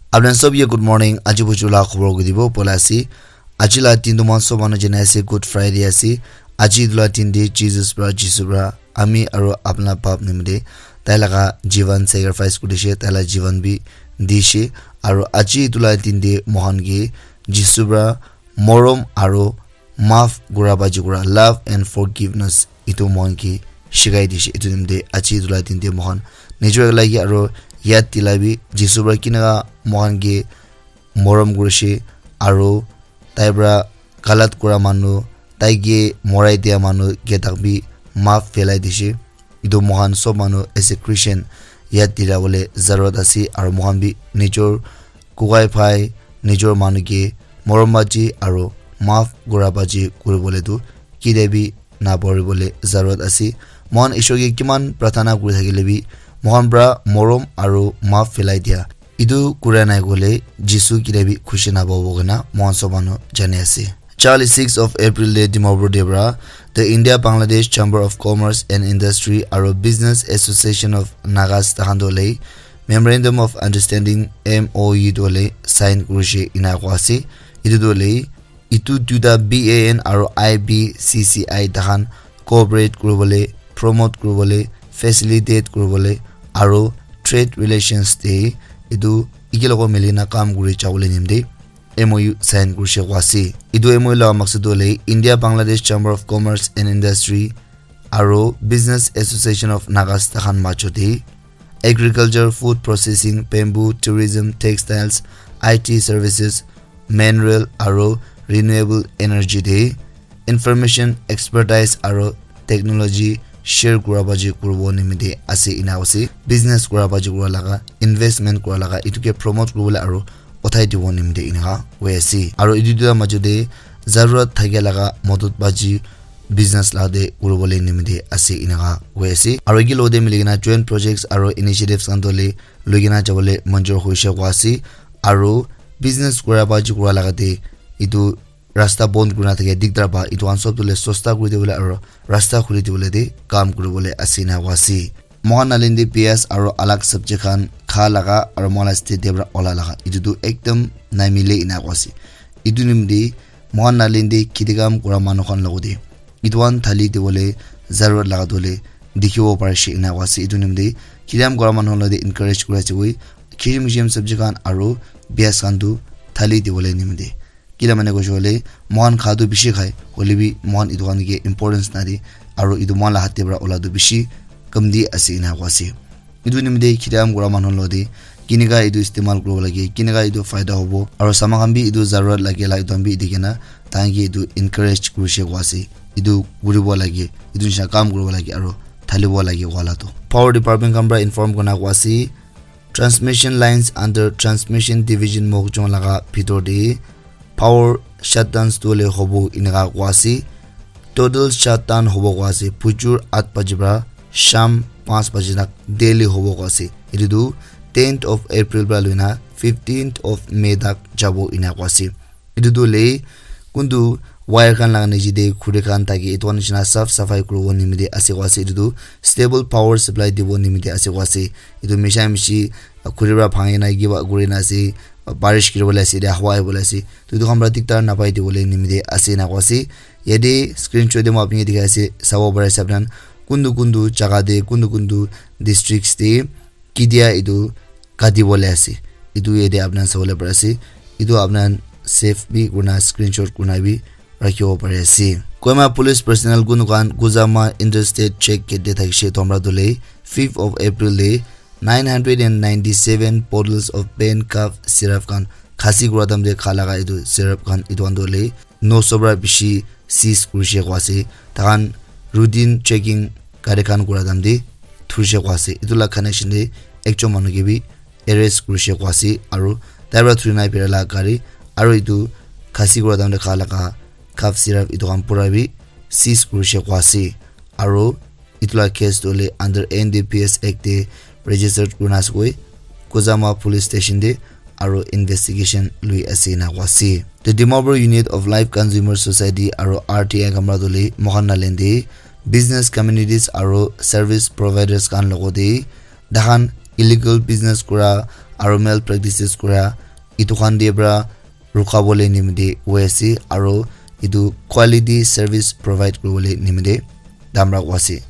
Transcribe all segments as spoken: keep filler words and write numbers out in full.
Apna sob ye good morning. Aji buju la khobor ko dibo pola ase. Aji la din tu mon sob manu jane ase Good Friday ase. Aji etu la din de Jesus pra, Jisu pra ami aru apna pap nimite tai laga jivan sacrifice kuri dishe, tai la jivan bi dishe. Aru aji etu la din de mohan ke Jisu pra morom aru maaf kura baji kura, love and forgiveness, etu mohan ke shikai dishe. Etu nimite aji etu la din de mohan nijor lagi aru yad dila bi Jisu pra kinaka mohan ke morom kurishe aru tai pra galat kura manu, tai ke morai dia manu ke tak bi maaf phelai dishe. Etu mohan sob manu as a Christian yad dila bole zarurat ase aru mohan bi nijor kukai phai, nijor manu ke morom baji aru maaf kura baji kuri bole tu kide bi na pori bole zarurat ase. Mohan Ishwar ke kiman prathana kuri thakile bi mohan pra morom aru maaf phelai dia, etu kura nai kole Jisu kide bi khushi na pabo kena mohan sob manu jane ase. Charli six of April de Dimapur de pra the India Bangladesh Chamber of Commerce and Industry aru Business Association of Nagas tahan to le Memorandum of Understanding, M O U, to le sign kurishe ina kwa ase. Etu to le etu duita B A N aru I B C C I tahan cooperate kuribole, promote kuribole, facilitate kuribole aru trade relations de etu eke logo mili na kam kuri jabole nimite M O U sign kurishe kwa ase. Etu M O U la maksud to le India Bangladesh Chamber of Commerce and Industry aru Business Association of Nagas tahan majo de agriculture, food processing, bamboo, tourism, textiles, I T services, mineral aru renewable energy de information, expertise aru technology share kura baji kuribo nimite ase ina ase. Business kura baji kura laga, investment kura laga, etu ke promote kuribole aru uthai dibo nimite eneka hoi ase. Aru etu duita majo de zarurat thakia laga modot baji business la de kuribole nimite ase eneka hoi ase. Aru eke logote mili kena joint projects aru initiatives khan to le loi kena jabole manjur hoishe kwa ase. Aru business kura baji kura laga de etu rasta bon kurina thake dikdar pa etu khan sob to le sosta kuri dibole aru rasta khuli dibole de kam kuribole ase ena kwa ase. Mohan nalin de pias aru alag sabji khan kha laga aru mohan la state de pra ola laga etu tu ekdam namile ena kwa ase. Etu nimite mohan nalin de kheti kam kura manu khan logote etu khan thali dibole zarurat laga to le dikhibo parishe ena kwa ase. Etu nimite kheti kam kura manu khan logote encourage kuri ase koi khirim khirim sabji khan aru pias khan tu thali dibole nimite. Kila mane koishe koile, moikhan kha tu bishi khai, hoile bi moikhan etu khan ke importance nadi, aru etu moikhan la hath te para ola tu bishi kam di ase ena koa ase. Etu nimite kheti kam kura manu lode, kinika etu istemal kuribo lage, kinika etu faida hobo, aru saman khan bi etu zarurat lage la etu khan bi dikhi na, tahan ke etu encourage kurishe koa ase. Etu kuribo lage, etu nisina kam kuribo lage, aru thalibo lage wala tu. Power department khan para inform kurina koa ase, transmission lines under transmission division Mokjong laga bhitor te power shutdowns tu le hobo enika koa ase. Total shutdown hobo koa ase. Bujur aat baji para sham panch baji tak daily hobo koa ase. Etu tu tenth of April para loina fifteenth of May tak jabo ena koa ase. Etu tu le kuntu wire khan laga niche te khuri khan thaki etu khan nisina saf safai kuribo nimite ase koa ase. Etu tu stable power supply dibo nimite ase koa ase. Etu misha mishi khuri para bhangi na kiba kuri na ase, barish giri bole ase, hawa ahi bole ase. To etu khan para diktar napai dibole nimite ase ena koa ase. Yate screenshot te moi apni ke dikhai ase, sabo pare ase apni khan kuntu kuntu jaga te, kuntu kuntu districts te ketia etu kati bole ase. Etu yate apni khan sabole pare ase. Etu apni khan save bi kurina screenshot kurina bi rakhibo pari ase. Kohima police personnel kunu khan Kuzama interstate check gate te thakishe etu para tu le fifth of April te nine hundred and ninety seven bottles of pain cough syrup khan khasi kura time te kha laga etu syrup khan etu khan tu le no so para bishi seize kurishe koa ase. Tahan routine checking gari khan kura time te thurishe koa ase. Etu la connection te ekjon manu ke bi arrest kurishe koa ase aru tai para thuri na bera la gari aru etu khasi kura time te kha laga cough syrup etu khan pura bi seize kurishe koa ase aru etu la case tu hoile under N D P S Act te registered kurina ase koi Kuzama police station te aru investigation lui ase ena koa ase. The Dimapur Unit of Live Consumer Society aru R T I khan para tu hoile moikhan Nagaland te business communities aru service providers khan logote tahan illegal business kura aro malpractices kura, etu khan te pra rukha bole nimite hoi ase, aro etu quality service provide kuri bole nimite tamra koi ase.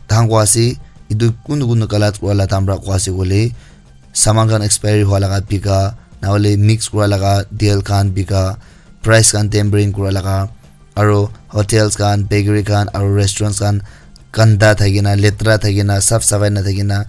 Tahan koi ase, etu kunu kunu galat kura la tamra koi ase koile, saman khan expiry hua laga bika, na hoile mix kura laga tel khan bika, price khan tampering kura laga, aro hotels khan, bakery khan, aro restaurants khan ganda thakina, letra thakina, saf safai na thakina,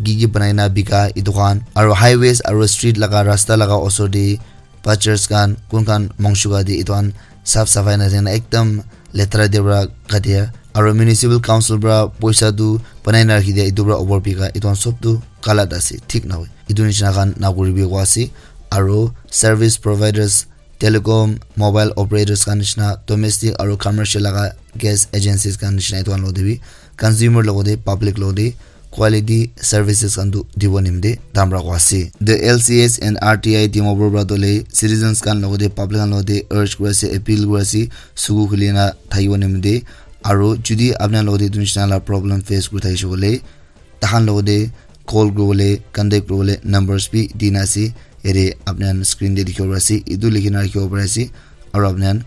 ki ki banai na bika etu khan, aro highways aro street laga rasta laga osor te butchers khan, kun khan mangso kati etu khan saf safai na thakina ekdam letra te pra katia, aro municipal council pra poisa tu banai na rakhi dia etu pra over bika etu khan sob tu galat ase, thik na hoi. Etu nishina khan na kuribi koi ase, aro service providers, telecom, mobile operators khan nishina, domestic aro commercial laga gas agencies khan nishina etu khan logote bi consumer logote public logote quality services khan tu dibo nimite tamra koi ase. The L C S and R T I Dimapur pra tole citizens khan logote public khan logote urge kuri ase, appeal kuri ase, suku khuli na thakibo nimite, aro judi apni khan logote etu nishina la problem face kuri thakishe koile, tahan logote call kuribole, contact kuribole numbers bi dina ase. Yate apni khan screen te dikhibo pari ase, etu likhi na rakhibo pari ase, aro apni khan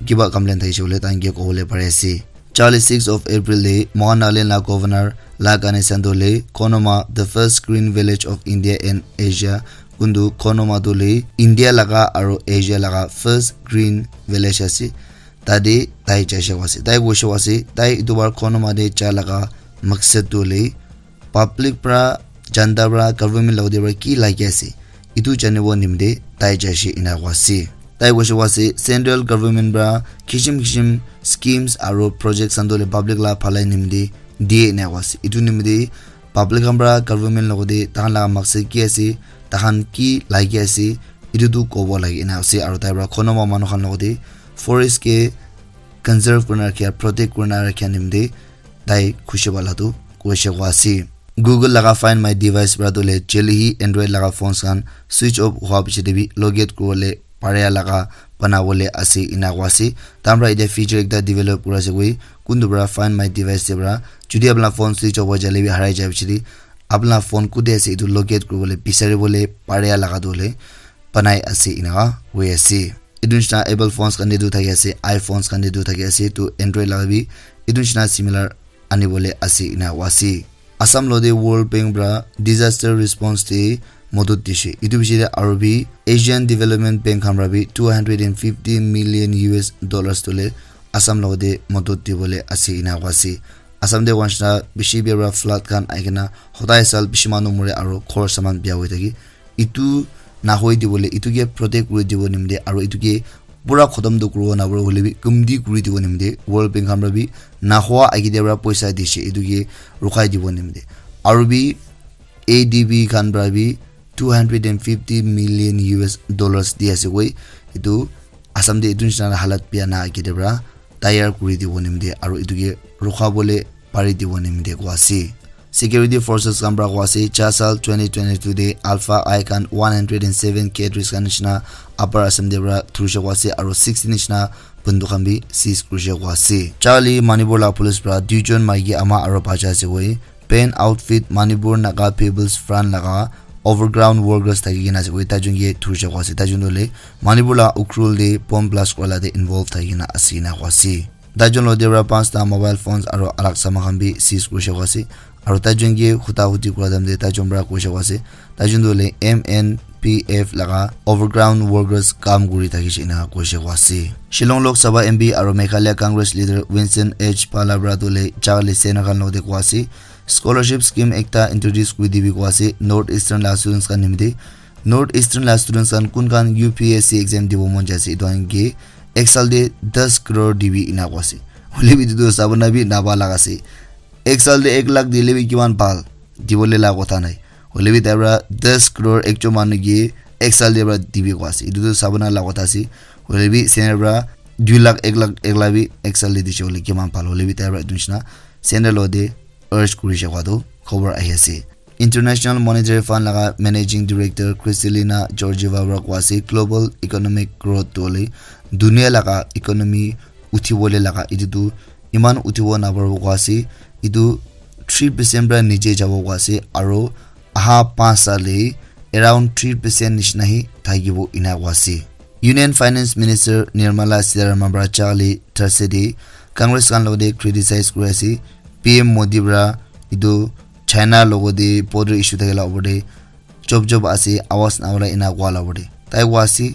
kiba complain thakishe koile tahan ke kobole pari ase. Charli, six of April te moikhan Nagaland la governor La Ganesan to le Konoma, the first green village of India and Asia, kuntu Konoma to le India laga aro Asia laga first green village ase. Tate tai jaise koise, tai koise koise, tai etu bar Konoma te ja laga maksad tu hoile public pra, janta pra, government logote pra ki lagi ase, etu janibo nimite tai jaise ena koise. Tai koise koise central government pra kishim kishim schemes aro projects khan tu hoile public la bhalai nimite diye ena koise. Etu nimite public khan pra government logote tahan laga maksad ki ase, tahan ki lagi ase, etu tu kobo lagi ena ase. Aro tai pra Konoma manu khan logote forest ke conserve kurina rakha, protect kurina rakha nimite tai khushi wala tu koise koise. Google laga Find My Device pra tu le jeli hi Android laga phones khan switch off hua piche te bi locate kuribole paria laga banabole ase ena koise. Tamra etia feature ekta develop kuri ase koi, kuntu pra Find My Device te pra, jodi apna phone switch off hoi jale bi harai jai piche te, apna phone kute ase etu locate kuribole bisaribole paria laga tu hoile banai ase ena koi ase. Etu nishina Apple phones khan te tu thaki ase, iPhones khan te tu thaki ase, tu Android laga bi etu nishina similar anibole ase ena koise. Assam logote World Bank pra disaster response te modot dise. Etu piche te aro bi Asian Development Bank khan pra bi two hundred and fifty million U S dollars tu le Assam logote modot dibole ase ena koise. Assam te koa nishina bishi bia pra flood khan ahi kena hodai sal bishi manu more aro ghor saman bia hoi thaki. Etu nahoi dibole, etu ke protect kuri dibo nimite aro etu ke pura khotom tu kuribo napare hoile bi kumti kuri dibo nimite World Bank khan pra bi nahwa agite pra poisa dise, etu ke rukhai dibo nimite. Aro bi A D B khan pra bi two hundred and fifty million U S dollars di ase koi. Etu Assam te etu nishina halat bia na agite pra tayar kuri dibo nimite aro etu ke rukha bole pari dibo nimite koa ase. Security forces khan pra koa ase, cha sal twenty twenty-two te Alpha Eye khan one hundred and seven cartridge khan nishina Upper Assam te pra thurishe koa ase, aro sixty nishina banduk khan bi seize kurishe koa ase. Charli, Manipur la police pra duijon maiki ama aro bacha ase koi, Pen Outfit Manipur Naga People's Front laga overground workers thaki kena ase koi, taijon ke thurishe koa ase. Taijon tu hoile Manipur la Ukhrul te bomb blast kura la te involve thaki kena ase ena koa ase. Taijon logote pra panchta mobile phones aro alak saman khan bi seize kurishe koa ase. Aro taijon ke huta huti kura time te taijon pra koishe koa ase, taijon tu hoile M N P F laga overground workers kam kuri thakishe ena koishe koa ase. Shillong Lok Sabha M P aro Meghalaya Congress leader Vincent H Pala pra tu hoile Charli Sena khan logote koa ase, scholarship scheme ekta introduce kuri dibi koa ase North Eastern la students khan nimite. North Eastern la students khan kun khan U P S C exam dibo mon jai ase, etu khan ke ek sal te das crore dibi ena koa ase. Hoile bi etu tu sabona bi naba laga ase. Ek sal te ek lakh dile bi kiman bhal, dibole la kotha nai. Hoile bi tai pra das crore ekjon manu ke ek sal te pra dibi koa ase. Etu tu sabona la kotha ase. Hoile bi center pra dui lakh, ek lakh, ek lakh bi ek sal te dise hoile kiman bhal. Hoile bi tai pra etu nishina center logote urge kurishe koa tu khobor ahi ase. International Monetary Fund laga Managing Director Kristalina Georgieva pra koa ase, global economic growth tu hoile dunia laga economy uthibole laga, etu tu iman uthibo naparibo koa ase, etu three percent pra niche jabo koa ase, aro aha panch sal te around three percent nishina hi thakibo ena koa ase. Union Finance Minister Nirmala Sitharaman para Charlie Thursday te Congress khan logate criticize kuri ase P M Modi para etu China logate border issue thakila opor te chop chop ase, awas nawala ena koa la opor te. Tai koa ase,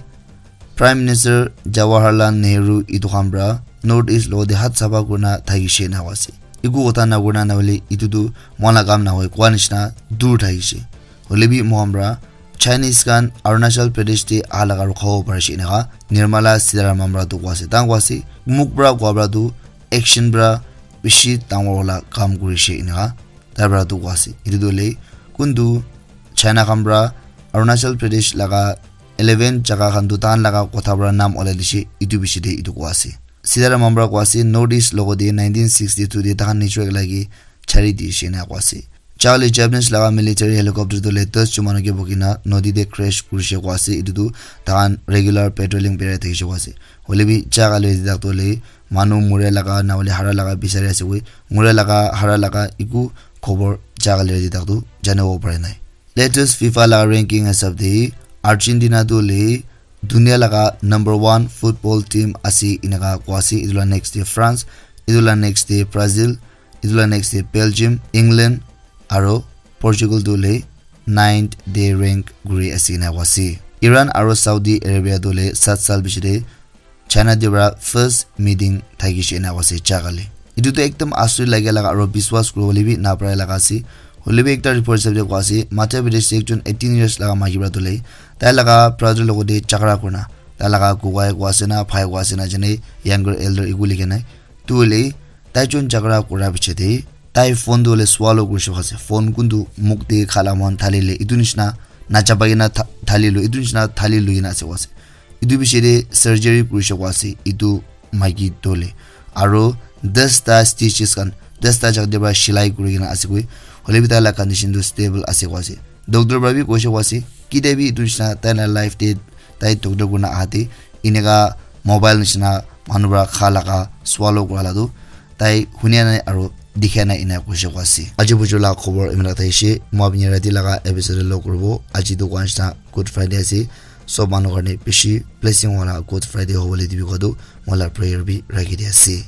Prime Minister Jawaharlal Nehru etu khan para North East logate hat safa kurina thakishe ena koa ase. Eku kotha nakurina nahole etu tu mohan la kam nahoi koa nishina dur thakishe. Hoile bi mohan para Chinese khan Arunachal Pradesh te aha laga rokhabo parishe enaka Nirmala Sitharaman para tu koa ase. Tai koa ase, mukh para koa para tu action para bishi dangor wala kam kurishe enaka tai para tu koa ase. Etu tu hoile kuntu China khan para Arunachal Pradesh laga eleven jaga khan tu tahan laga kotha para nam olai dishe, etu bishi te etu koa ase. Sitharaman para koa ase, North East logate nineteen sixty-two te tahan nijor lagi chari dishe ena koa ase. Charlie Japanese laga military helicopter tu le das jon manu ke bukina nodi te crash kurishe koa ase. Etu tu tahan regular patrolling berai thakishe koa ase. Hoile bi jaga le tak tu le manu mure laga na hoile hara laga bisari ase koi. Mure laga hara laga eku khobor jaga le tak tu janibo pare nai. Latest FIFA laga ranking hisab te Argentina tu le dunia laga number one football team ase enaka koa ase. Etu la next te France, etu la next te Brazil, etu la next te Belgium, England aro Portugal tu le ninth te rank kuri ase ena koa ase. Iran aro Saudi Arabia tu le sat sal piche te China te para first meeting thakishe ena koa ase jaga le. Etu tu ekdam asuri lage laga aro biswas kuribole bi naparai laga ase. Hoile bi ekta report hisab te koa ase, Madhya Pradesh te ekjon eighteen years laga maiki para tu le tai laga brother logate jhagara kurina tai laga kokai koa ase na bhai koa ase na jane, younger elder eku likha nai. Tu hoile tai jon jhagara kura piche te tai phone tu hoile swallow kurishe koa ase. Phone kuntu mukh te khala mohan thali le etu nishina nachapai kena tha-, thali lo, etu nishina thali lui kena ase koa ase. Etu piche te surgery kurishe koa ase etu maiki tu le. Aro das ta stitches khan, das ta jaga te para silai kuri kena ase koi. Hoile bi tai la condition tu stable ase koa ase. Doctor para bi koishe koa ase, kitia bi etu nishina tai la life te tai doctor kurina aha te eneka mobile nishina manu para kha laga swallow kura la tu tai hunia nai aro dikhia nai ena koishe koa ase. Aji buju la khobor imina thakishe, moi apni rati laga episode te log kuribo. Aji tu koa nishina Good Friday ase, sob manu karne bishi blessing wala Good Friday hobole dibi koa tu moi la prayer bi rakhi di ase.